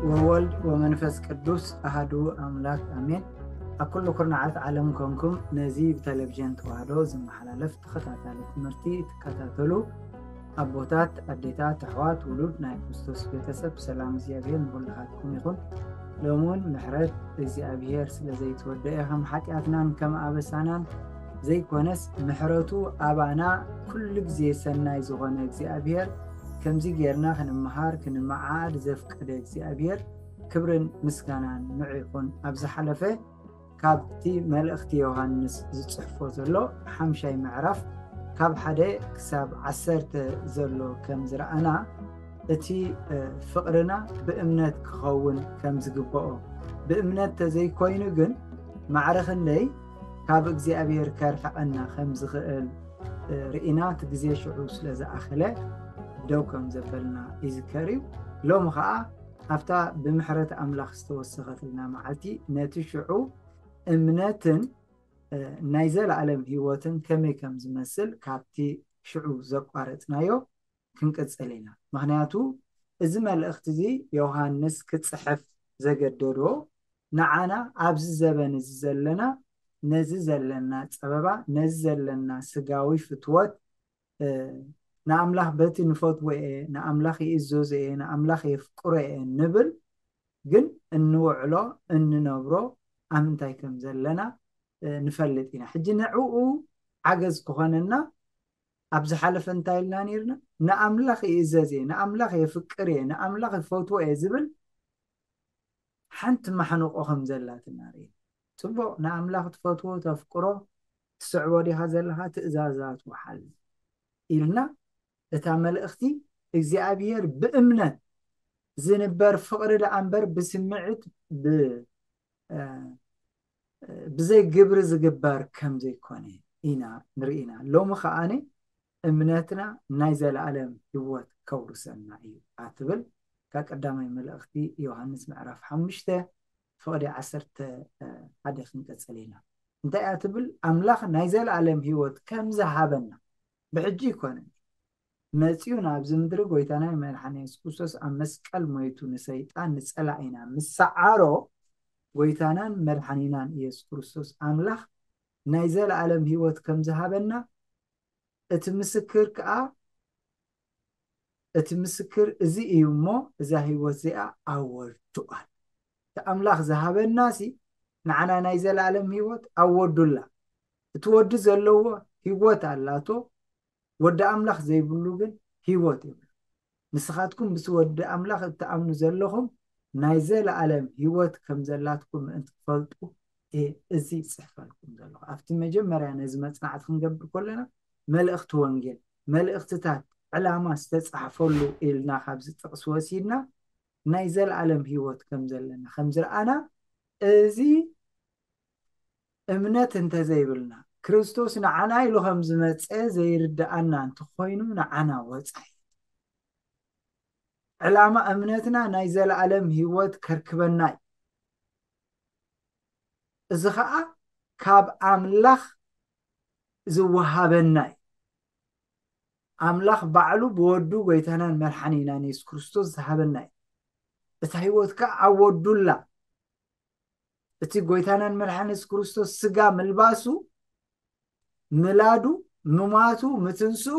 ወወልድ ወመንፈስ ቅዱስ ኣሃዱ ኣምላክ ኣሜን። ኣብ ኩሉ ኩርናዓት ዓለም ኮንኩም ነዚ ብቴሌቪዥን ተዋህዶ ዝመሓላለፍ ተኸታታሊ ትምህርቲ ትከታተሉ ኣቦታት፣ ኣዴታት፣ ኣሕዋት፣ ውሉድ ናይ ክርስቶስ ቤተሰብ፣ ሰላም እግዚኣብሔር ንኹልኻትኩም ይኹን። ሎሚ እውን ምሕረት እግዚኣብሔር ስለ ዘይተወደአ ከም ሓጢኣትናን ከም ኣበሳናን ዘይኮነስ ምሕረቱ ኣባና ኩሉ ግዜ ሰናይ ዝኾነ እግዚኣብሔር ከምዚ ጌርና ክንመሃር ክንመዓድ ዘፍቀደ እግዚኣብሔር ክብርን ምስጋናን ንዑ ይኹን። ኣብ ዝሓለፈ ካብቲ መልእኽቲ ዮሃንስ ዝጽሕፎ ዘሎ ሓምሻይ ምዕራፍ ካብ ሓደ ክሳብ ዓሰርተ ዘሎ ከም ዝረኣና እቲ ፍቕርና ብእምነት ክኸውን ከም ዝግብኦ፣ ብእምነት ተዘይኮይኑ ግን ማዕረ ክንደይ ካብ እግዚኣብሔር ከርሕቐና ከም ዝኽእል ርኢና፣ እቲ ግዜ ሽዑ ስለ ዝኣኸለ ደው ከም ዘበልና ይዝከር እዩ። ሎሚ ኸዓ ኣብታ ብምሕረት ኣምላኽ ዝተወሰኸትልና መዓልቲ ነቲ ሽዑ እምነትን ናይ ዘለኣለም ህይወትን ከመይ ከም ዝመስል ካብቲ ሽዑ ዘቋረጽናዮ ክንቅጽል ኢና። ምኽንያቱ እዚ መልእኽቲ እዚ ዮሃንስ ክጽሕፍ ዘገደዶ ንዓና ኣብዚ ዘበን እዚ ዘለና ነዚ ዘለና ጸበባ፣ ነዚ ዘለና ስጋዊ ፍትወት፣ ንኣምላኽ በቲ ንፈትዎ እየ፣ ንኣምላኽ ይእዘዞ እየ፣ ንኣምላኽ የፍቅሮ እየ ንብል፣ ግን እንውዕሎ እንነብሮ ኣብ ምንታይ ከም ዘለና ንፈልጥ ኢና። ሕጂ ንዕኡ ሓገዝ ክኾነና ኣብ ዝሓለፈ እንታይ ኢልና ነይርና? ንኣምላኽ ይእዘዝ እየ፣ ንኣምላኽ የፍቅር እየ፣ ንኣምላኽ ይፈትዎ እየ ዝብል ሓንቲ ማሕንቆ ከም ዘላትና ርኢና። ጽቡቕ፣ ንኣምላኽ ትፈትዎ፣ ተፍቅሮ፣ ትስዕቦ ዲኻ ዘለኻ? ትእዛዛቱ ሓልፍ ኢልና እታ መልእኽቲ እግዚኣብሔር ብእምነት ዝንበር ፍቕሪ ደኣ እምበር ብስምዒት ብ-፣ እ፣ ብዘይ ግብሪ ዝግበር ከም ዘይኮነ ኢና ንርኢና። ሎሚ ከኣነ እምነትና ናይ ዘለኣለም ህይወት ከውርሰና እዩ ኣትብል ካብ ቀዳማይ መልእኽቲ ዮሃንስ ምዕራፍ ሓሙሽተ ፍቕዲ ዓሰርተ ሓደ ክንቀጽል ኢና። እንታይ እያ ትብል? ኣምላኽ ናይ ዘለኣለም ህይወት ከም ዝሃበና ብሕጂ ይኮነን መጺኡ ናብዚ ምድሪ ጎይታና መድሓኒ የሱስ ክርስቶስ ኣብ መስቀል ሞይቱ ንሰይጣን ንጸላኢና ምስ ሰዓሮ ጎይታናን መድሓኒናን ኢየሱስ ክርስቶስ ኣምላኽ ናይ ዘለኣለም ህይወት ከም ዝሃበና እቲ ምስክር ከኣ እቲ ምስክር እዚ እዩ እሞ እዛ ህይወት እዚኣ ኣወርድዋል። እቲ ኣምላኽ ዝሃበናሲ ንዓና ናይ ዘለኣለም ህይወት ኣወዱላ። እቲ ወዲ ዘለዎ ህይወት ኣላቶ፣ ወዲ ኣምላኽ ዘይብሉ ግን ህይወት የብሉ። ንስኻትኩም ምስ ወዲ ኣምላኽ እትኣምኑ ዘለኹም ናይ ዘለኣለም ህይወት ከም ዘላትኩም ምእንቲ ትፈልጡ እየ እዚ ይጽሕፈልኩም ዘለኹ። ኣብቲ መጀመርያ ነዚ መጽናዕቲ ክንገብር ከለና መልእኽቲ ወንጌል፣ መልእኽትታት ዕላማ ዝተጻሕፈሉ ኢልና ካብዚ ጥቕሲ ወሲድና ናይ ዘለኣለም ህይወት ከም ዘለና ከም ዝረኣና እዚ እምነት እንተዘይብልና ክርስቶስ ንዓና ኢሉ ከም ዝመጸ ዘይርድኣና እንተኾይኑ ንዓና ወጻኢ። ዕላማ እምነትና ናይ ዘለኣለም ህይወት ከርክበና እዩ። እዚ ኸኣ ካብ ኣምላኽ ዝወሃበና እዩ። ኣምላኽ ባዕሉ ብወዱ ጎይታናን መድሓኒናን የሱስ ክርስቶስ ዝሃበና እዩ። እታ ህይወት ከኣ ኣብ ወዱላ። እቲ ጎይታናን መድሓኒ የሱስ ክርስቶስ ስጋ ምልባሱ፣ ምላዱ፣ ምማቱ፣ ምትንስኡ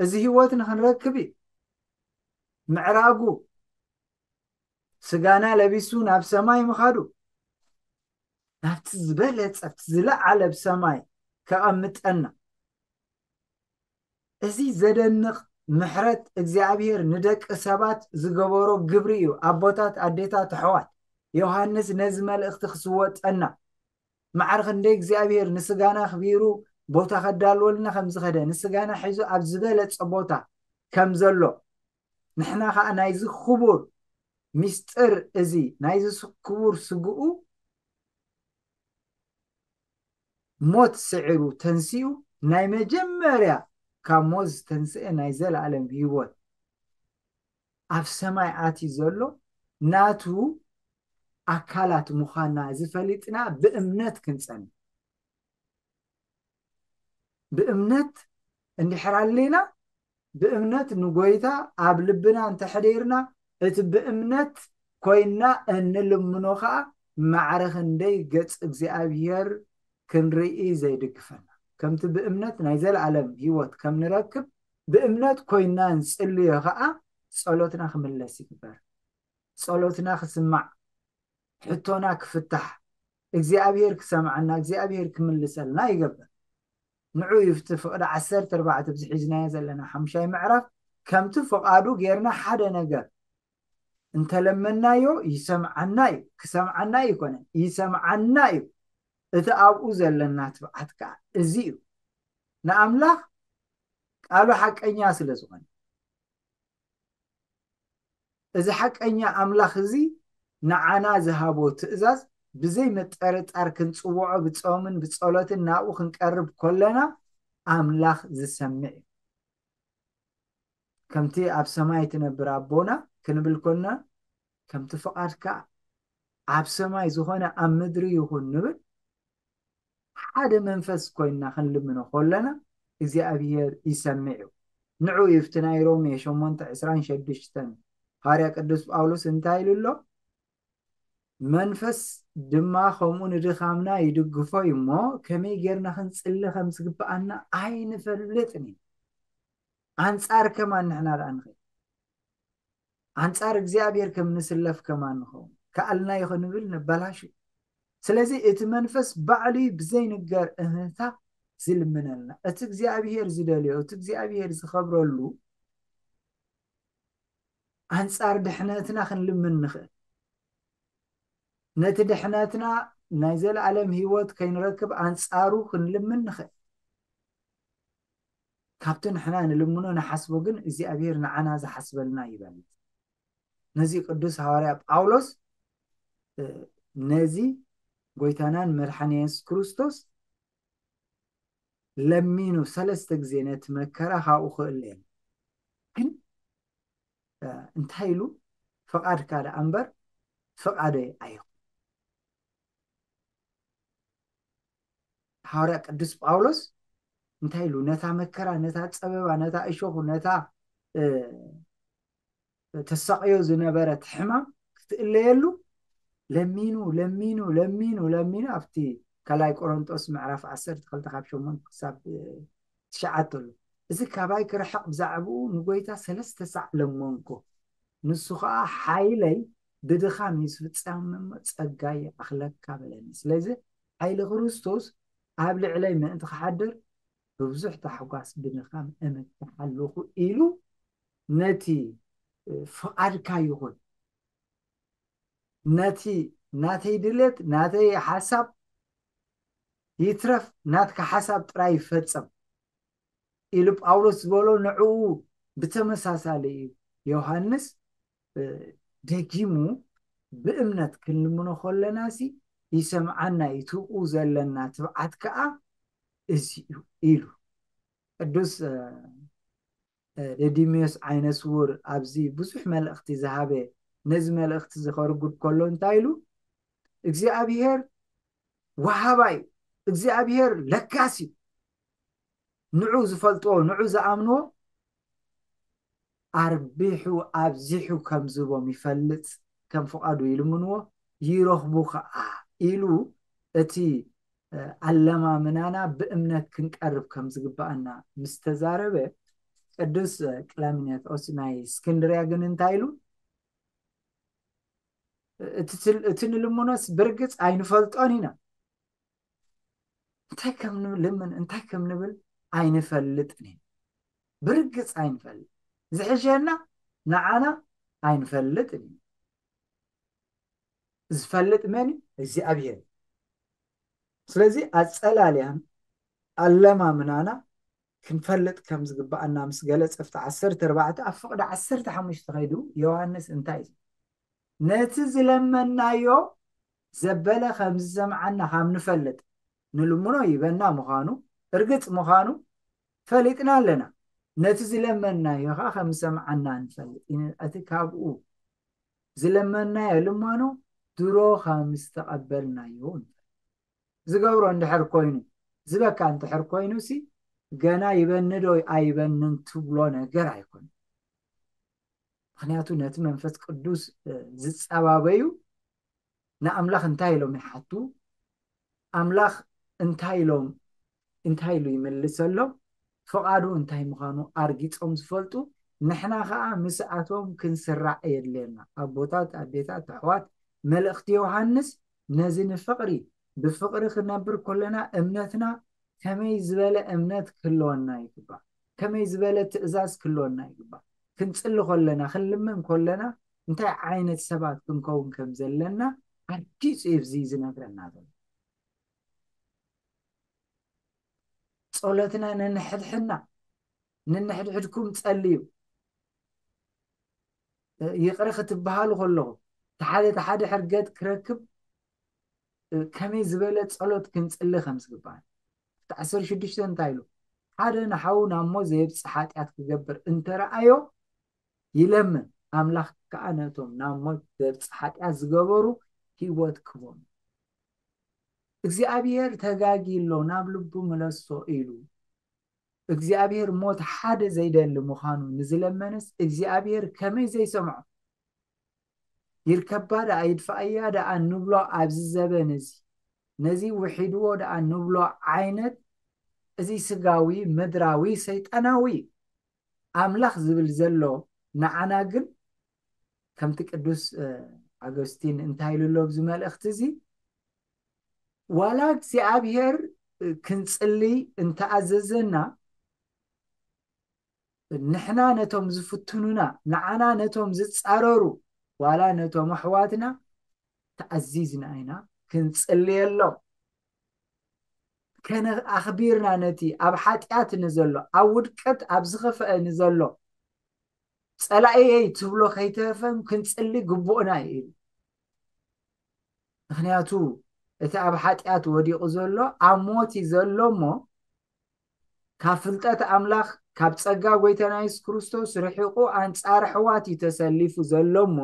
እዚ ህይወት ንኽንረክብ እዩ። ምዕራጉ፣ ስጋና ለቢሱ ናብ ሰማይ ምኻዱ፣ ናብቲ ዝበለጸ፣ ኣብቲ ዝለዓለ ብሰማይ ከቐምጠና። እዚ ዘደንቕ ምሕረት እግዚኣብሔር ንደቂ ሰባት ዝገበሮ ግብሪ እዩ። ኣቦታት፣ ኣዴታት፣ ኣሕዋት፣ ዮሃንስ ነዚ መልእኽቲ ክስወጠና ማዕረ ክንደይ እግዚኣብሔር ንስጋና ኣኽቢሩ ቦታ ከዳልወልና ከም ዝኸደ፣ ንስጋና ሒዙ ኣብ ዝበለጸ ቦታ ከም ዘሎ፣ ንሕና ኸኣ ናይዚ ክቡር ሚስጥር እዚ፣ ናይዚ ስ-፣ ክቡር ስግኡ ሞት ስዒሩ ተንሲኡ፣ ናይ መጀመርያ ካብ ሞት ዝተንስአ ናይ ዘለኣለም ህይወት ኣብ ሰማይ ኣትዩ ዘሎ ናቱ ኣካላት ምዃንና እዚ ፈሊጥና ብእምነት ክንጸንዕ። ብእምነት እንድሕር ኣሊና፣ ብእምነት ንጎይታ ኣብ ልብና እንተሕዲርና፣ እቲ ብእምነት ኮይና እንልምኖ ከዓ ማዕረ ክንደይ ገጽ እግዚኣብሔር ክንርኢ ዘይድግፈና። ከምቲ ብእምነት ናይ ዘለኣለም ህይወት ከም ንረክብ፣ ብእምነት ኮይና ንጽልዮ ከዓ ጸሎትና ክምለስ ይግበር። ጸሎትና ክስማዕ፣ ሕቶና ክፍታሕ፣ እግዚኣብሔር ክሰምዓና፣ እግዚኣብሔር ክምልሰልና ይገብር። ንዑ ይፍቲ ፍቕዲ ዓሰርተ ኣርባዕተ ኣብዚ ሒዝናዮ ዘለና ሓምሻይ ምዕራፍ ከምቲ ፍቓዱ ጌርና ሓደ ነገር እንተለመናዮ ይሰምዓና እዩ። ክሰምዓና ኣይኮነን፣ ይሰምዓና እዩ። እቲ ኣብኡ ዘለና ትብዓት ከዓ እዚ እዩ። ንኣምላኽ ቃሉ ሓቀኛ ስለ ዝኾነ፣ እዚ ሓቀኛ ኣምላኽ እዚ ንዓና ዝሃቦ ትእዛዝ ብዘይ ምጥርጣር ክንጽውዖ፣ ብጾምን ብጸሎትን ናብኡ ክንቀርብ ከለና ኣምላኽ ዝሰምዕ እዩ። ከምቲ ኣብ ሰማይ ትነብር ኣቦና ክንብል ኮና፣ ከምቲ ፍቓድካ ኣብ ሰማይ ዝኾነ ኣብ ምድሪ ይኹን ንብል፣ ሓደ መንፈስ ኮይንና ክንልምኖ ከለና እግዚኣብሔር ይሰምዕ እዩ። ንዑ ይፍቲ ናይ ሮሜ ሸሞንተ ዕስራን ሸዱሽተን፣ ሃዋርያ ቅዱስ ጳውሎስ እንታይ ኢሉ ኣሎ? መንፈስ ድማ ከምኡ ንድኻምና ይድግፎ እዩ እሞ፣ ከመይ ጌርና ክንጽሊ ከም ዝግብኣና ኣይንፈልጥን ኢና። ኣንጻር ከማን ንሕና ደኣ ንኽእል። ኣንጻር እግዚኣብሔር ከም ንስለፍ ከማን ንኸውን። ከኣልናዮ ክንብል ነበላሹ። ስለዚ እቲ መንፈስ ባዕሉ እዩ ብዘይንገር እህታ ዝልምነልና። እቲ እግዚኣብሔር ዝደልዮ፣ እቲ እግዚኣብሔር ዝኸብረሉ ኣንጻር ድሕነትና ክንልምን ንኽእል። ነቲ ድሕነትና ናይ ዘለኣለም ህይወት ከይንረክብ ኣንጻሩ ክንልምን ንኽእል። ካብቲ ንሕና ንልምኖ ንሓስቦ ግን እግዚኣብሔር ንዓና ዝሓስበልና ይበልጽ። ነዚ ቅዱስ ሃዋርያ ጳውሎስ፣ እ፣ ነዚ ጎይታናን መድሓን የሱስ ክርስቶስ ለሚኑ ሰለስተ ግዜ ነቲ መከራ ካብኡ ክእለየን። ግን፣ እ፣ እንታይ ኢሉ? ፍቓድካ ደኣ እምበር ፍቓደይ ኣይኹን። ሃዋርያ ቅዱስ ጳውሎስ እንታይ ኢሉ? ነታ መከራ፣ ነታ ጸበባ፣ ነታ እሾኹ፣ ነታ፣ እ፣ ተሳቕዮ ዝነበረት ሕማም ክትእለየሉ ለሚኑ፣ ለሚኑ፣ ለሚኑ፣ ለሚኑ ኣብቲ ካልኣይ ቆሮንጦስ ምዕራፍ ዓሰርተ ክልተ ካብ ሸሞንተ ክሳብ፣ እ፣ ትሽዓተ ኣሎ። እዚ ካባይ ክርሕቕ ብዛዕባኡ ንጎይታ ሰለስተ ሳዕ ለመንኩ። ንሱ ኸዓ ሓይለይ ብድኻም እዩ ዝፍጸም እሞ ጸጋይ ይኣኽለካ በለኒ። ስለዚ ሓይሊ ክርስቶስ ኣብ ልዕለይ ምእንቲ ክሓድር ብብዙሕ ታሕጓስ ብድኻም እምክሓለኹ ኢሉ ነቲ፣ እ፣ ፍቓድካ ይኹን፣ ነቲ ናተይ ድሌት፣ ናተይ ሓሳብ ይትረፍ፣ ናትካ ሓሳብ ጥራይ ይፈጸም ኢሉ ጳውሎስ ዝበሎ ንዕኡ ብተመሳሳሊ እዩ ዮሃንስ፣ እ፣ ደጊሙ ብእምነት ክንልምኖ ከለናሲ ይሰምዓና እዩ፣ ትብኡ ዘለና ትብዓት ከኣ እዚ እዩ ኢሉ። ቅዱስ፣ እ፣ እ፣ ደዲሜዎስ ዓይነ ስውር ኣብዚ ብዙሕ መልእኽቲ ዝሃበ፣ ነዚ መልእኽቲ እዚ ከርጉድ ከሎ እንታይ ኢሉ? እግዚኣብሔር ወሃባይ እዩ፣ እግዚኣብሔር ለጋስ እዩ። ንዑ ዝፈልጥዎ፣ ንዑ ዝኣምንዎ ኣርቢሑ ኣብዚሑ ከም ዝህቦም ይፈልጥ፣ ከም ፍቓዱ ይልምንዎ፣ ይረኽቡ ኸዓ ኢሉ እቲ፣ እ፣ ኣለማምናና ብእምነት ክንቀርብ ከም ዝግብኣና ምስ ተዛረበ፣ ቅዱስ፣ እ፣ ቅላሚኔዎስ ናይ እስክንድርያ ግን እንታይ ኢሉ? እቲ ትል-፣ እቲ ንልምኖስ ብርግጽ ኣይንፈልጦን ኢና። እንታይ ከም ንልምን፣ እንታይ ከም ንብል ኣይንፈልጥን ኢና። ብርግጽ ኣይንፈልጥ። ዝሕሸና ንዓና ኣይንፈልጥን ኢና። ዝፈልጥ መን እዩ? እግዚኣብሔር። ስለዚ ኣጸላልያን ኣለማምናና ክንፈልጥ ከም ዝግብኣና ምስ ገለጸ፣ ኣብቲ ዓሰርተ ኣርባዕተ ኣብ ፍቕዲ ዓሰርተ ሓሙሽተ ከይዱ ዮሃንስ እንታይ እዩ? ነቲ ዝለመናዮ ዘበለ ከም ዝሰምዓና ካብ ንፈልጥ፣ ንልምኖ ይበና ምዃኑ፣ እርግጽ ምዃኑ ፈሊጥና ኣለና። ነቲ ዝለመናዮ ኸዓ ከም ዝሰምዓና ንፈልጥ። እቲ ካብኡ ዝለመናዮ ልማኖ ድሮ ከም ዝተቐበልናዮ ንፈልጥ። ዝገብሮ እንድሕር ኮይኑ፣ ዝበካ እንድሕር ኮይኑሲ፣ ገና ይበኒ ዶ ኣይበንን ትብሎ ነገር ኣይኮነን። ምክንያቱ ነቲ መንፈስ ቅዱስ ዝፀባበዩ ንኣምላኽ እንታይ ኢሎም ይሓቱ? ኣምላኽ እንታይ ኢሎም እንታይ ኢሉ ይምልሰሎም? ፍቓዱ እንታይ ምዃኑ ኣርጊጾም ዝፈልጡ ንሕና ከዓ ምስኣቶም ክንስራዕ የድልየና። ኣቦታት፣ ኣዴታት፣ ኣሕዋት፣ መልእኽቲ ዮሃንስ ነዚ ንፍቕሪ ብፍቕሪ ክነብር ከለና እምነትና ከመይ ዝበለ እምነት ክህልወና ይግባእ? ከመይ ዝበለ ትእዛዝ ክህልወና ይግባእ? ክንጽሊ ከለና ክንልምን ከለና እንታይ ዓይነት ሰባት ክንከውን ከም ዘለና ኣርጊጹ እዩ እዚ ዝነግረና ዘሎ። ጸሎትና ነንሕድሕድና፣ ነንሕድሕድኩም ጸልዩ። ይቕረ ክትበሃሉ ከለኹም፣ እቲ ሓደ እቲ ሓደ ሕርገት ክረክብ ከመይ ዝበለ ጸሎት ክንጽሊ ከም ዝግባእ። እቲ ዓሰርተ ሽዱሽተ እንታይ ኢሉ? ሓደ ንሓዉ ናብ ሞት ዘየብጽሕ ሓጢኣት ክገብር እንተረኣዮ ይለምን፣ ኣምላኽ ከኣ ነቶም ናብ ሞት ዘብጽሕ ሓጢኣት ዝገበሩ ህይወት ክቦም። እግዚኣብሔር ተጋጊ ኣሎ፣ ናብ ልቡ ምለሶ ኢሉ። እግዚኣብሔር ሞት ሓደ ዘይደሊ ምዃኑ ንዝለመነስ እግዚኣብሔር ከመይ ዘይሰምዖ? ይርከባ ደኣ ይድፋእያ ደኣ ንብሎ ኣብዚ ዘበን እዚ፣ ነዚ ውሒድዎ ደኣ ንብሎ ዓይነት እዚ ስጋዊ፣ ምድራዊ፣ ሰይጣናዊ ኣምላኽ ዝብል ዘሎ ንዓና ግን ከምቲ ቅዱስ ኣገስቲን እንታይ ኢሉ ኣሎ ኣብዚ መልእኽቲ እዚ? ዋላ እግዚኣብሔር ክንጽሊ እንተኣዘዘና፣ ንሕና ነቶም ዝፍትኑና፣ ንዓና ነቶም ዝጻረሩ፣ ዋላ ነቶም ኣሕዋትና ተኣዚዝና ኢና ክንጽልየሎም። ከነ ኣኽቢርና ነቲ ኣብ ሓጢኣት ንዘሎ፣ ኣብ ውድቀት ኣብ ዝኸፍአ ንዘሎ ጸላኢየይ ትብሎ ከይተረፈን ክንጽሊ ግቡእና እዩ ኢሉ። ምክንያቱ እቲ ኣብ ሓጢኣት ወዲቑ ዘሎ ኣብ ሞት እዩ ዘሎ እሞ፣ ካብ ፍልጠት ኣምላኽ፣ ካብ ጸጋ ጎይታና የሱስ ክርስቶስ ርሒቑ ኣንጻር ኣሕዋት እዩ ተሰሊፉ ዘሎ እሞ፣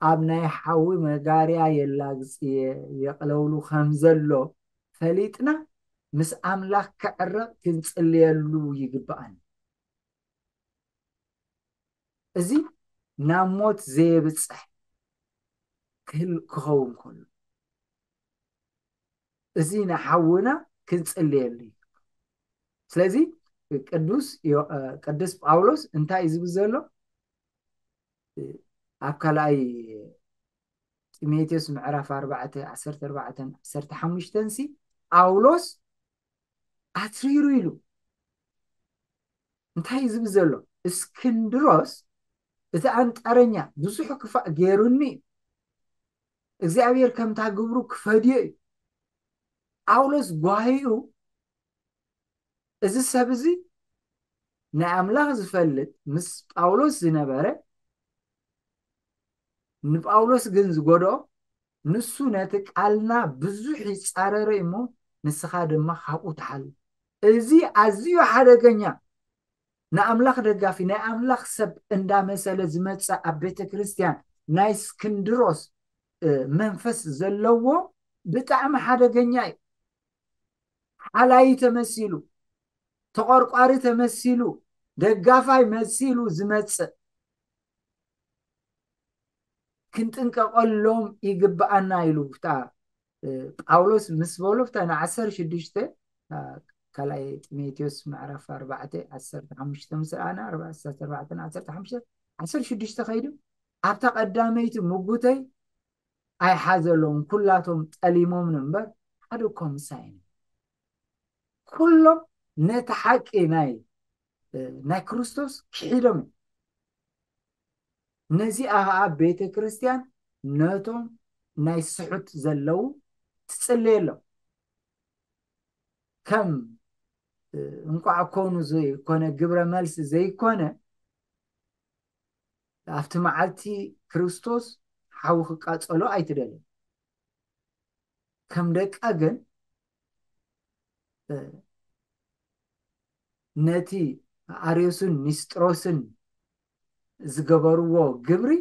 ኣብ ናይ ሓዊ መጋርያ የላግጽ የቕለውሉ ከም ዘሎ ፈሊጥና ምስ ኣምላኽ ክዕረቕ ክንጽልየሉ ይግብኣና። እዚ ናብ ሞት ዘየብጽሕ ክህል ክኸውን ከሎ፣ እዚ ንሓውና ክንጽልየሉ እዩ። ስለዚ ቅዱስ ዮ- እ፣ ቅዱስ ጳውሎስ እንታይ እዩ ዝብል ዘሎ? ኣብ ካልኣይ ጢሞቴዎስ ምዕራፍ ኣርባዕተ ዓሰርተ ኣርባዕተን ዓሰርተ ሓሙሽተን ሲ ጳውሎስ ኣትሪሩ ኢሉ እንታይ እዩ ዝብል ዘሎ? እስክንድሮስ እቲ ኣንጣረኛ ብዙሕ ክፋእ ገይሩኒ እዩ። እግዚኣብሔር ከምታ ግብሩ ክፈድዮ እዩ። ጳውሎስ ጓሂኡ እዚ ሰብ እዚ ናይ ኣምላኽ ዝፈልጥ ምስ ጳውሎስ ዝነበረ ንጳውሎስ ግን ዝጎድኦ ንሱ ነቲ ቃልና ብዙሕ ይጻረረ እሞ ንስኻ ድማ ካብኡ ትሓል። እዚ ኣዝዩ ሓደገኛ ንኣምላኽ ደጋፊ ናይ ኣምላኽ ሰብ እንዳመሰለ ዝመጸ ኣብ ቤተ ክርስቲያን ናይ እስክንድሮስ መንፈስ ዘለዎ ብጣዕሚ ሓደገኛ እዩ። ሓላይ ተመሲሉ፣ ተቆርቋሪ ተመሲሉ፣ ደጋፋይ መሲሉ ዝመጽእ ክንጥንቀቀሎም ይግብኣና ኢሉ ብታ ጳውሎስ ምስ በሎ ብታ ንዓሰርተ ሽዱሽተ ካልኣይ ጢሞቴዎስ ምዕራፍ ኣርባዕተ ዓሰርተ ሓሙሽተ ምስ ረኣና ዓሰርተ ኣርባዕተ ዓሰርተ ሓሙሽተ ዓሰርተ ሽዱሽተ ከይዱ ኣብታ ቀዳመይቲ ምጉተይ ኣይሓዘሎም ኩላቶም ጠሊሞም እምበር ሓደ እኮ ምሳይ ኩሎም ነቲ ሓቂ ናይ ናይ ክርስቶስ ክሒዶም ነዚኣ ከዓ ቤተ ክርስቲያን ነቶም ናይ ስሑት ዘለዉ ትጽለየሎም ከም እንቋዕ ኮኑ ዘይኮነ ግብረ መልሲ ዘይኮነ ኣብቲ መዓልቲ ክርስቶስ ሓዊ ክቃጸሎ ኣይትደልን ከም ደቃ ግን ነቲ ኣርዮስን ኒስጥሮስን ዝገበርዎ ግብሪ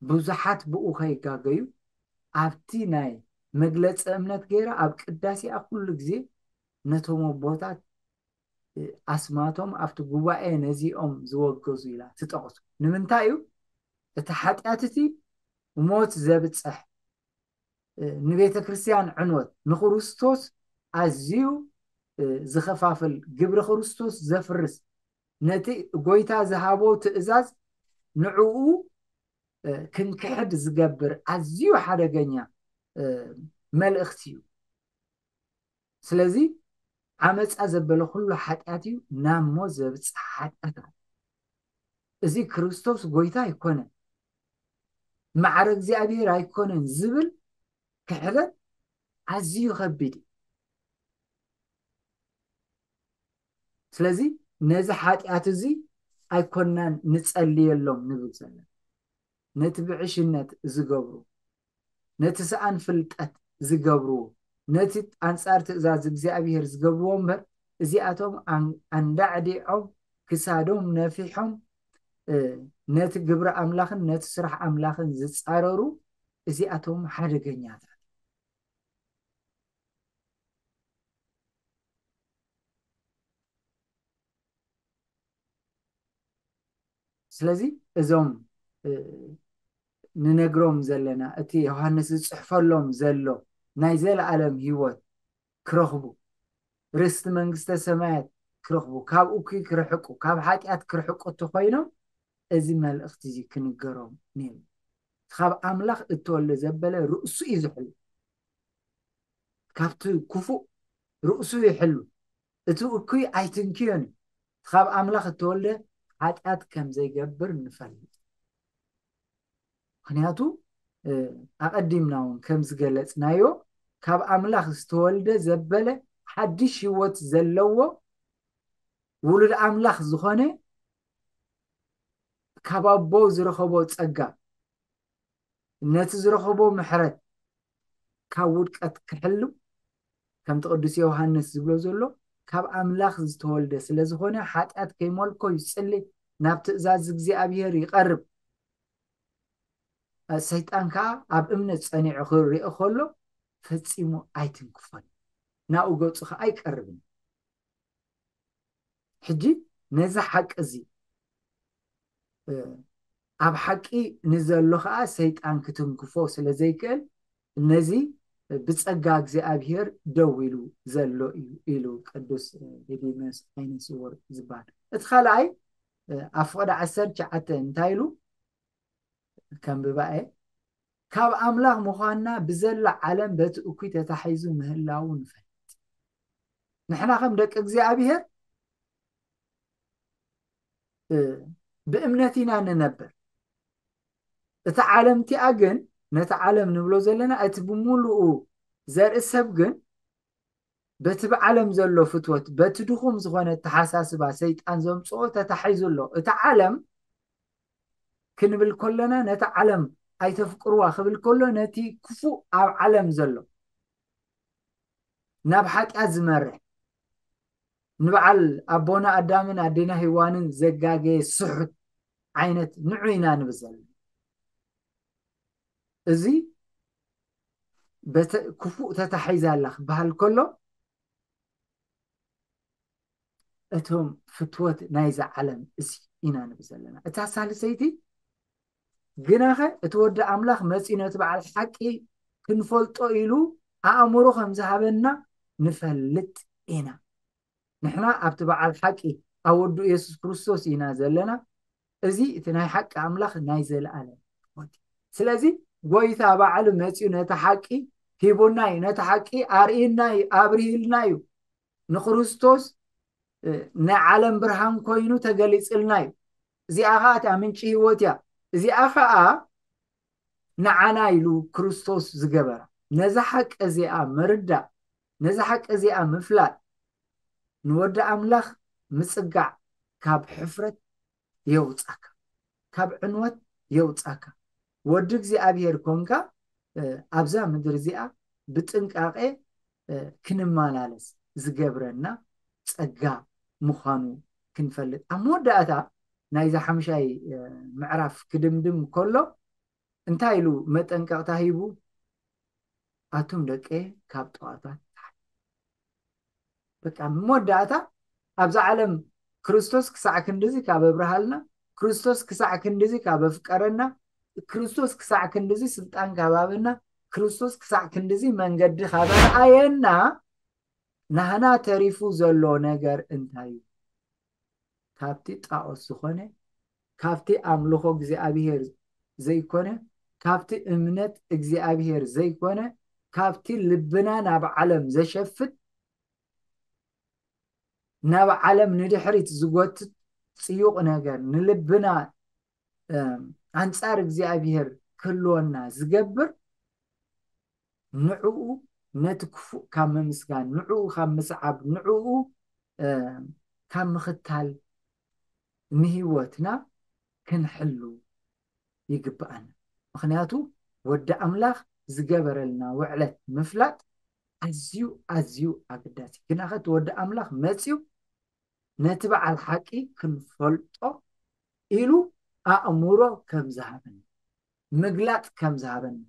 ብዙሓት ብኡ ከይጋገዩ ኣብቲ ናይ መግለፂ እምነት ገይራ ኣብ ቅዳሴኣ ኩሉ ግዜ ነቶም ኣቦታት ኣስማቶም ኣብቲ ጉባኤ ነዚኦም ዝወገዙ ኢላ ትጠቕሱ። ንምንታይ እዩ? እቲ ሓጢኣት እቲ ሞት ዘብፅሕ፣ ንቤተ ክርስቲያን ዕንወት፣ ንክርስቶስ ኣዝዩ ዝኸፋፍል፣ ግብሪ ክርስቶስ ዘፍርስ፣ ነቲ ጎይታ ዝሃቦ ትእዛዝ ንዕኡ ክንክሕድ ዝገብር ኣዝዩ ሓደገኛ መልእኽቲ እዩ። ስለዚ ዓመፃ ዘበለ ኩሉ ሓጢኣት እዩ፣ ናብ ሞት ዘብፅሕ ሓጢኣት ኣሎ። እዚ ክርስቶስ ጎይታ ኣይኮነን፣ ማዕረ እግዚኣብሔር ኣይኮነን ዝብል ክሕደት ኣዝዩ ከቢድ እዩ። ስለዚ ነዚ ሓጢኣት እዚ ኣይኮናን ንጸልየሎም ንብል ዘለና። ነቲ ብዕሽነት ዝገብሩ፣ ነቲ ሰኣን ፍልጠት ዝገብርዎ፣ ነቲ ኣንጻር ትእዛዝ እግዚኣብሔር ዝገብርዎ እምበር፣ እዚኣቶም ኣን-፣ ኣንዳዕዲዖም ክሳዶም ነፊሖም፣ እ፣ ነቲ ግብሪ ኣምላኽን ነቲ ስራሕ ኣምላኽን ዝጻረሩ፣ እዚኣቶም ሓደገኛታት። ስለዚ እዞም፣ እ፣ ንነግሮም ዘለና፣ እቲ ዮሃንስ ዝጽሕፈሎም ዘሎ ናይ ዘለኣለም ህይወት ክረኽቡ፣ ርስቲ መንግስተ ሰማያት ክረኽቡ፣ ካብ እኩይ ክርሕቁ፣ ካብ ሓጢኣት ክርሕቁ እንተኾይኖም፣ እዚ መልእኽቲ እዚ ክንገሮም ነይሩ። ካብ ኣምላኽ እተወልደ ዘበለ ርእሱ እዩ ዝሕሉ። ካብቲ ክፉእ ርእሱ ይሕሉ። እቲ እኩይ ኣይትንክዮን እዩ። ካብ ኣምላኽ እተወልደ ሓጢኣት ከም ዘይገብር ንፈልጥ። ምኽንያቱ፣ እ፣ ኣቐዲምና እውን ከም ዝገለጽናዮ፣ ካብ ኣምላኽ ዝተወልደ ዘበለ ሓድሽ ህይወት ዘለዎ ውሉድ ኣምላኽ ዝኾነ ካብ ኣቦ ዝረኸቦ ጸጋ፣ ነቲ ዝረኸቦ ምሕረት ካብ ውድቀት ክሕሉ፣ ከምቲ ቅዱስ ዮሃንስ ዝብሎ ዘሎ፣ ካብ ኣምላኽ ዝተወልደ ስለ ዝኾነ፣ ሓጢኣት ከይመልኮ ይጽሊ፣ ናብ ትእዛዝ እግዚኣብሔር ይቐርብ። ሰይጣን ከኣ ኣብ እምነት ጸኒዑ ክርኦ ከሎ፣ ፈጺሙ ኣይትንክፎን፣ ናብኡ ገጹ ከኣ ኣይቀርብን። ሕጂ ነዚ ሓቂ እዚ፣ እ፣ ኣብ ሓቂ ንዘሎ ከኣ ሰይጣን ክትንክፎ ስለ ዘይክእል፣ ነዚ ብጸጋ እግዚኣብሔር ደው ኢሉ ዘሎ እዩ ኢሉ ቅዱስ ዲዲሞስ ዓይነ ስውር ዝበሃል። እቲ ካልኣይ፣ እ፣ ኣብ ፍቕዲ ዓሰርተ ትሽዓተ እንታይ ኢሉ? ከንብባ እየ። ካብ ኣምላኽ ምዃንና ብዘላ ዓለም በቲ እኩይ ተታሒዙ ምህላዉ ንፈልጥ። ንሕና ከም ደቂ እግዚኣብሔር፣ እ፣ ብእምነት ኢና ንነብር። እታ ዓለም እቲኣ ግን፣ ነቲ ዓለም ንብሎ ዘለና፣ እቲ ብምሉኡ ዘርኢ ሰብ ግን፣ በቲ ብዓለም ዘሎ ፍትወት፣ በቲ ድኹም ዝኾነ ኣተሓሳስባ ሰይጣን ዘምጽኦ ተታሒዙ ኣሎ። እታ ዓለም ክንብል ከለና፣ ነታ ዓለም ኣይተፍቅርዋ ክብል ከሎ፣ ነቲ ክፉእ ኣብ ዓለም ዘሎ፣ ናብ ሓጢኣት ዝመርሕ፣ ንበዓል ኣቦና ኣዳምን ኣዴና ሄዋንን ዘጋገየ ስሑት ዓይነት ንዑ ኢና ንብል ዘለና። እዚ በተ-፣ ክፉእ ተታሒዛ ኣላ ክበሃል ከሎ፣ እቶም ፍትወት ናይዛ ዓለም እዚ ኢና ንብል ዘለና። እታ ሳልሰይቲ፣ ግናኸ እቲ ወዲ ኣምላኽ መጺኡ ነቲ በዓል ሓቂ ክንፈልጦ ኢሉ ኣእምሮ ከም ዝሃበና ንፈልጥ ኢና። ንሕና ኣብቲ በዓል ሓቂ ኣብ ወዱ የሱስ ክርስቶስ ኢና ዘለና። እዚ እቲ ናይ ሓቂ ኣምላኽ ናይ ዘለኣለም ህይወት እዩ። ስለዚ ጎይታ ባዕሉ መጺኡ ነቲ ሓቂ ሂቡና እዩ። ነቲ ሓቂ ኣርእዩና እዩ፣ ኣብርሂልና እዩ። ንክርስቶስ፣ እ፣ ናይ ዓለም ብርሃን ኮይኑ ተገሊጽልና እዩ። እዚኣ ኸኣ እታ ምንጪ ህይወት እያ። እዚኣ ኸኣ ንዓና ኢሉ ክርስቶስ ዝገበራ። ነዛ ሓቂ እዚኣ ምርዳእ፣ ነዛ ሓቂ እዚኣ ምፍላጥ፣ ንወዲ ኣምላኽ ምጽጋዕ ካብ ሕፍረት የውጻካ፣ ካብ ዕንወት የውጻካ። ወዲ እግዚኣብሔር ኮንካ፣ እ፣ ኣብዛ ምድሪ እዚኣ ብጥንቃቄ፣ እ፣ ክንመላለስ ዝገብረና ጸጋ ምዃኑ ክንፈልጥ። ኣብ መወዳእታ ናይዛ ሓምሻይ፣ እ፣ ምዕራፍ ክድምድም ከሎ እንታይ ኢሉ መጠንቀቕታ ሂቡ? ኣቱም ደቀ ካብ ጠዋፋት ተሓ-፣ በቃ መወዳእታ ኣብዛ ዓለም ክርስቶስ ክሳዕ ክንድዚ ካብ ኣብርሃልና፣ ክርስቶስ ክሳዕ ክንድዚ ካብ ኣፍቀረና፣ ክርስቶስ ክሳዕ ክንድዚ ስልጣን ካብ ሃበና፣ ክርስቶስ ክሳዕ ክንድዚ መንገዲ ካብ ኣርኣየና፣ ናህና ተሪፉ ዘሎ ነገር እንታይ እዩ? ካብቲ ጣዖት ዝኾነ፣ ካብቲ ኣምልኾ እግዚኣብሔር ዘይኮነ፣ ካብቲ እምነት እግዚኣብሔር ዘይኮነ፣ ካብቲ ልብና ናብ ዓለም ዘሸፍት፣ ናብ ዓለም ንድሕሪት ዝጎትት ጽዩቕ ነገር፣ ንልብና ኣንጻር እግዚኣብሔር ክህልወና ዝገብር፣ ንዕኡ፣ ነቲ ክፉእ ካብ ምምስጋን፣ ንዕኡ ካብ ምስዓብ፣ ንዕኡ ካብ ምኽታል ንህይወትና ክንሕሉ ይግብኣና። ምኽንያቱ ወዲ ኣምላኽ ዝገበረልና ውዕለት ምፍላጥ ኣዝዩ ኣዝዩ ኣገዳሲ። ግናኸ እቲ ወዲ ኣምላኽ መፅዩ ነቲ በዓል ሓቂ ክንፈልጦ ኢሉ ኣእምሮ ከም ዝሃበና፣ ምግላጥ ከም ዝሃበና፣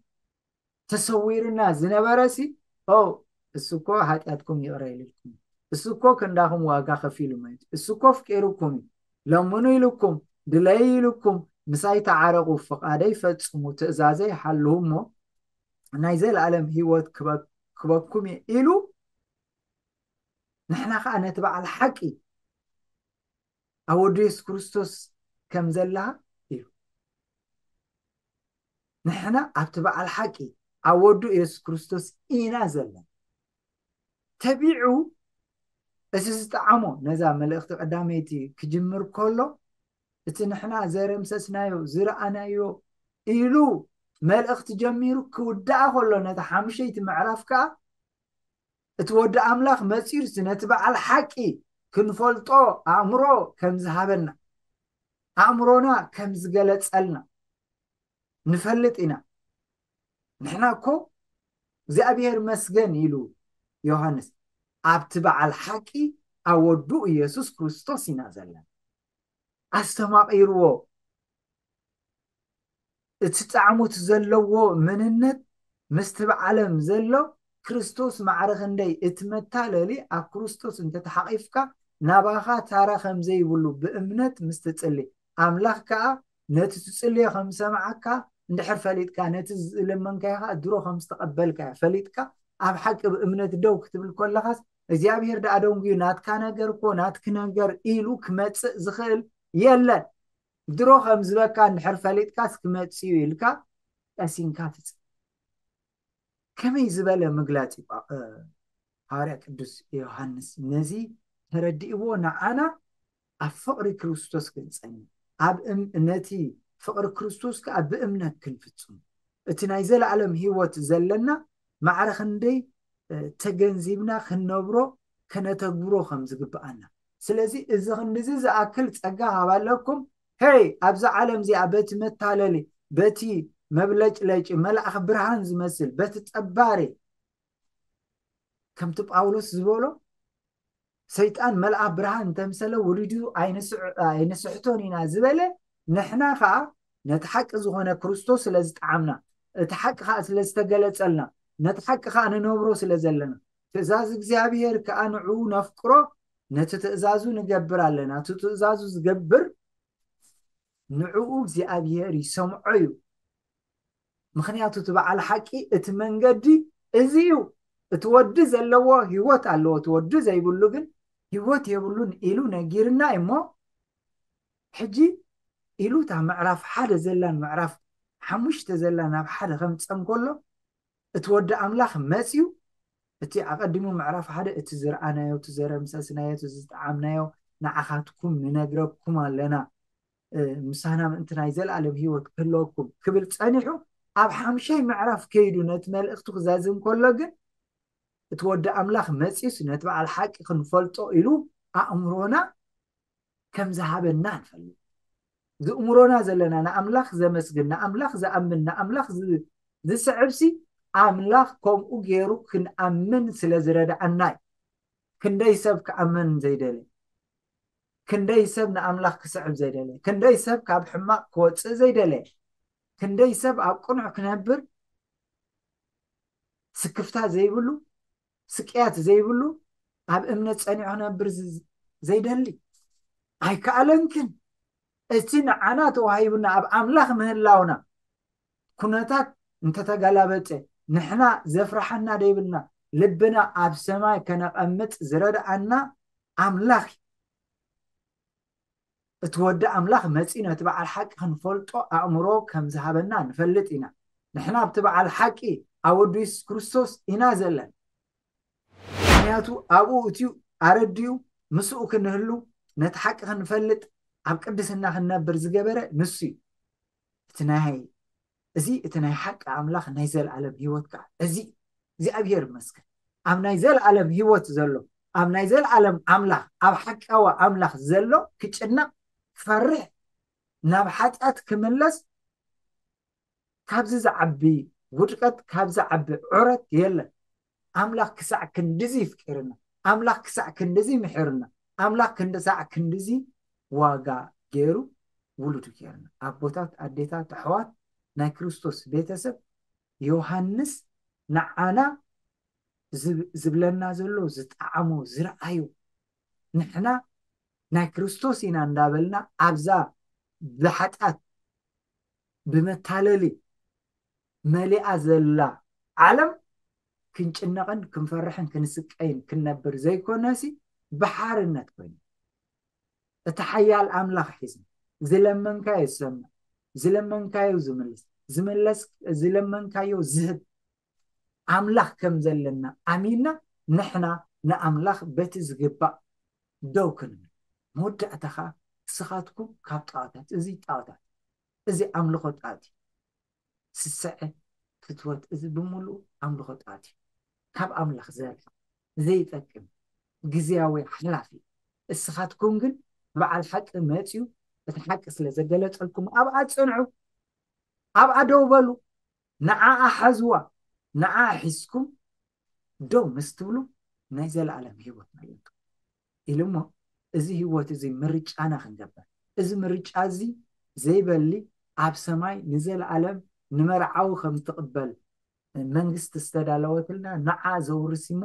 ተሰዊርና ዝነበረ ሲ ኦ እሱ እኮ ሓጢኣትኩም ይቕረ ኢልልኩም፣ እሱ እኮ ክንዳኹም ዋጋ ከፊሉ ማለት እዩ፣ እሱ እኮ ፍቂሩኩም እዩ፣ ለምኑ ኢልኩም፣ ድለዩ ኢልኩም፣ ምሳይ ተዓረቑ፣ ፍቓደይ ፈጽሙ፣ ትእዛዘይ ሓልዉ እሞ ናይ ዘለኣለም ህይወት ክበ- ክበኩም እየ ኢሉ፣ ንሕና ከዓ ነቲ በዓል ሓቂ ኣብ ወዱ የሱስ ክርስቶስ ከም ዘለኻ እዩ። ንሕና ኣብቲ በዓል ሓቂ ኣብ ወዱ የሱስ ክርስቶስ ኢና ዘለና። ተቢዑ እቲ ዝጠዓሞ ነዛ መልእኽቲ ቀዳመይቲ ክጅምር ከሎ እቲ ንሕና ዘረምሰስናዮ ዝረኣናዮ ኢሉ መልእኽቲ ጀሚሩ ክውዳኣ ከሎ ነቲ ሓሙሸይቲ ምዕራፍ ከዓ እቲ ወዲ ኣምላኽ መጺኡሲ ነቲ በዓል ሓቂ ክንፈልጦ ኣእምሮ ከም ዝሃበና ኣእምሮና ከም ዝገለጸልና ንፈልጥ ኢና። ንሕና እኮ እግዚኣብሔር መስገን ኢሉ ዮሃንስ ኣብቲ በዓል ሓቂ ኣብ ወዱ ኢየሱስ ክርስቶስ ኢና ዘለና። ኣስተማቒርዎ እቲ ጣዕሙት ዘለዎ መንነት ምስቲ ብዓለም ዘሎ ክርስቶስ ማዕረ ክንደይ እቲ መታለሊ ኣብ ክርስቶስ እንተተሓቒፍካ ናባኻ ታራ ከም ዘይብሉ ብእምነት ምስ ትጽሊ ኣምላኽ ከኣ ነቲ ትጽልዮ ከም ዝሰምዓካ እንድሕር ፈሊጥካ ነቲ ዝለመንካዮ ከኣ ድሮ ከም ዝተቐበልካዮ ፈሊጥካ ኣብ ሓቂ ብእምነት ደው ክትብል ከለኻስ እግዚኣብሔር ደኣ ደንጉዩ ናትካ ነገር እኮ ናትኪ ነገር ኢሉ ክመጽእ ዝኽእል የለን። ድሮ ከም ዝበካ እንድሕር ፈሊጥካስ ክመጽእ እዩ ኢልካ ቀሲንካ ትጽ ከመይ ዝበለ ምግላጽ እዩ ሃዋርያ ቅዱስ ዮሃንስ ነዚ ተረዲእዎ ንዓና ኣብ ፍቕሪ ክርስቶስ ክንጸኒ ኣብ ነቲ ፍቕሪ ክርስቶስ ከዓ ብእምነት ክንፍጽሙ እቲ ናይ ዘለኣለም ህይወት ዘለና ማዕረ ክንደይ ተገንዚብና ክንነብሮ ከነተግብሮ ከም ዝግብኣና ስለዚ እዚ ክንድዚ ዝኣክል ጸጋ ሃባለኩም ሄይ ኣብዛ ዓለም እዚኣ በቲ መታለሊ በቲ መብለጭለጭ መልኣኽ ብርሃን ዝመስል በቲ ጠባሪ ከምቲ ጳውሎስ ዝበሎ ሰይጣን መልኣኽ ብርሃን እንተምሰለ ውሉዱ ኣይንስሕቶን ኢና ዝበለ ንሕና ከዓ ነቲ ሓቂ ዝኾነ ክርስቶስ ስለ ዝጠዓምና እቲ ሓቂ ከዓ ስለ ዝተገለጸልና ነቲ ሓቂ ከዓ ንነብሮ ስለ ዘለና ትእዛዝ እግዚኣብሔር ከዓ ንዕኡ ነፍቅሮ ነቲ ትእዛዙ ንገብር ኣለና እቲ ትእዛዙ ዝገብር ንዕኡ እግዚኣብሔር ይሰምዖ እዩ ምኽንያቱ እቲ በዓል ሓቂ እቲ መንገዲ እዚ እዩ እቲ ወዲ ዘለዎ ህይወት ኣለዎ እቲ ወዲ ዘይብሉ ግን ህይወት የብሉን ኢሉ ነጊርና እሞ ሕጂ ኢሉ እታ ምዕራፍ ሓደ ዘላን ምዕራፍ ሓሙሽተ ዘላ ናብ ሓደ ከምፀም ከሎ እቲ ወዲ ኣምላኽ መፅዩ እቲ ኣቐዲሙ ምዕራፍ ሓደ እቲ ዝረኣናዮ እቲ ዘረምሰስናዮ እቲ ዝጠዓምናዮ ንዓኻትኩም ንነግረኩም ኣለና ምሳና ምእንቲ ናይ ዘለኣለም ህይወት ክህልወኩም ክብል ጸኒሑ ኣብ ሓምሻይ ምዕራፍ ከይዱ ነቲ መልእኽቱ ክዛዝም ከሎ ግን እቲ ወዲ ኣምላኽ መጺኡስ ነቲ በዓል ሓቂ ክንፈልጦ ኢሉ ኣእምሮና ከም ዝሃበና ንፈልጥ ዝእምሮና ዘለና ንኣምላኽ ዘመስግን ንኣምላኽ ዝኣምን ንኣምላኽ ዝስዕብሲ ኣምላኽ ከምኡ ገይሩ ክንኣምን ስለ ዝረድኣና እዩ ክንደይ ሰብ ክኣምን ዘይደለ ክንደይ ሰብ ንኣምላኽ ክስዕብ ዘይደለ ክንደይ ሰብ ካብ ሕማቕ ክወፅእ ዘይደለ ክንደይ ሰብ ኣብ ቅኑዕ ክነብር ስክፍታ ዘይብሉ ስቅያት ዘይብሉ ኣብ እምነት ፀኒዑ ክነብር ዘይደሊ ኣይከኣለንክን። እቲ ንዓና ተዋሂቡና ኣብ ኣምላኽ ምህላውና ኩነታት እንተተገላበጠ፣ ንሕና ዘፍርሓና ደይብልና፣ ልብና ኣብ ሰማይ ከነቐምጥ ዝረድኣና ኣምላኽ እዩ። እቲ ወዲ ኣምላኽ መጺኡ ነቲ በዓል ሓቂ ክንፈልጦ ኣእምሮ ከም ዝሃበና ንፈልጥ ኢና። ንሕና ኣብቲ በዓል ሓቂ ኣብ ወዱ የሱስ ክርስቶስ ኢና ዘለና። ምክንያቱ ኣብኡ እትዩ ኣረድዩ ምስኡ ክንህሉ፣ ነቲ ሓቂ ክንፈልጥ፣ ኣብ ቅድስና ክንነብር ዝገበረ ንሱ እዩ። እቲ ናይ እዚ እቲ ናይ ሓቂ ኣምላኽ ናይ ዘለኣለም ህይወት ከዓ እዚ እግዚኣብሔር ይመስገን። ኣብ ናይ ዘለኣለም ህይወት ዘሎ፣ ኣብ ናይ ዘለኣለም ኣምላኽ፣ ኣብ ሓቃዊ ኣምላኽ ዘሎ ክጭነቕ፣ ክፈርሕ፣ ናብ ሓጢኣት ክምለስ፣ ካብዚ ዝዓቢ ውድቀት፣ ካብዚ ዝዓቢ ዑረት የለን። ኣምላኽ ክሳዕ ክንድዚ ይፍቅርና፣ ኣምላኽ ክሳዕ ክንድዚ ይምሕርና፣ ኣምላኽ ክንድሳዕ ክንድዚ ዋጋ ገይሩ ውሉዱ ገይርና። ኣቦታት፣ ኣዴታት፣ ኣሕዋት፣ ናይ ክርስቶስ ቤተሰብ፣ ዮሃንስ ንዓና ዝብ- ዝብለና ዘሎ ዝጠዓሞ ዝረኣዩ፣ ንሕና ናይ ክርስቶስ ኢና እንዳበልና ኣብዛ ብሓጢኣት ብመታለሊ መሊኣ ዘላ ዓለም ክንጭነቕን ክንፈርሕን ክንስቀይን ክንነብር ዘይኮነሲ፣ ብሓርነት ኮይኑ እቲ ሓያል ኣምላኽ ሒዝና ዝለመንካዮ ዝሰምዕ፣ ዝለመንካዮ ዝምልስ፣ ዝመለስ ዝለመንካዮ ዝህብ ኣምላኽ ከም ዘለና ኣሚንና፣ ንሕና ንኣምላኽ በቲ ዝግባእ ደው ክንብል። መወዳእታ ኸዓ ንስኻትኩም ካብ ጣዖታት፣ እዚ ጣዖታት፣ እዚ ኣምልኾ ጣዖት እዩ። ስስዐ፣ ፍትወት፣ እዚ ብምሉኡ ኣምልኾ ጣዖት እዩ። ካብ ኣምላኽ ዘርሒ ዘይጠቅም፣ ግዝያዊ፣ ሓላፊ። እስኻትኩም ግን በዓል ሓቂ መጺኡ እቲ ሓቂ ስለ ዘገለጸልኩም ኣብኣ ጽንዑ፣ ኣብኣ ደው በሉ፣ ንዓኣ ሓዝዋ። ንዓኣ ሒዝኩም ደው ምስ ትብሉ ናይ ዘለኣለም ህይወት ኣለኩም ኢሉ እሞ፣ እዚ ህይወት እዚ ምርጫና ክንገብር፣ እዚ ምርጫ እዚ ዘይበሊ ኣብ ሰማይ ንዘለኣለም ንመርዓዊ ከም ትቕበል መንግስቲ ዝተዳለወትልና ንዓ ዘውርስ እሞ፣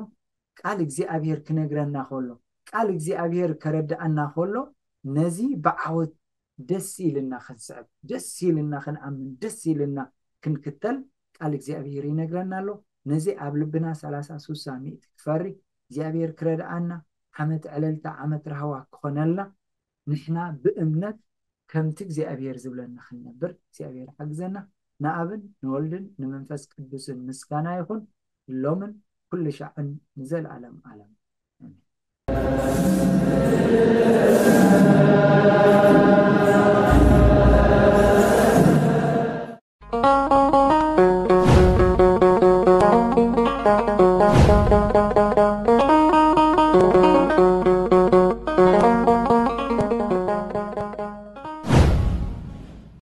ቃል እግዚኣብሔር ክነግረና ከሎ፣ ቃል እግዚኣብሔር ከረድኣና ከሎ፣ ነዚ ብዓወት ደስ ኢልና ክንስዕብ፣ ደስ ኢልና ክንኣምን፣ ደስ ኢልና ክንክተል ቃል እግዚኣብሔር ይነግረና ኣሎ። ነዚ ኣብ ልብና ሰላሳ፣ ስሳ፣ ሚእቲ ክፈሪ እግዚኣብሔር ክረድኣና፣ ዓመት ዕለልታ፣ ዓመት ራህዋ ክኾነልና፣ ንሕና ብእምነት ከምቲ እግዚኣብሔር ዝብለና ክንነብር እግዚኣብሔር ሓግዘና። ንኣብን ንወልድን ንመንፈስ ቅዱስን ምስጋና ይኹን፣ ሎምን ኩሉ ሻዕን ንዘለኣለም ዓለም። ኣሜን።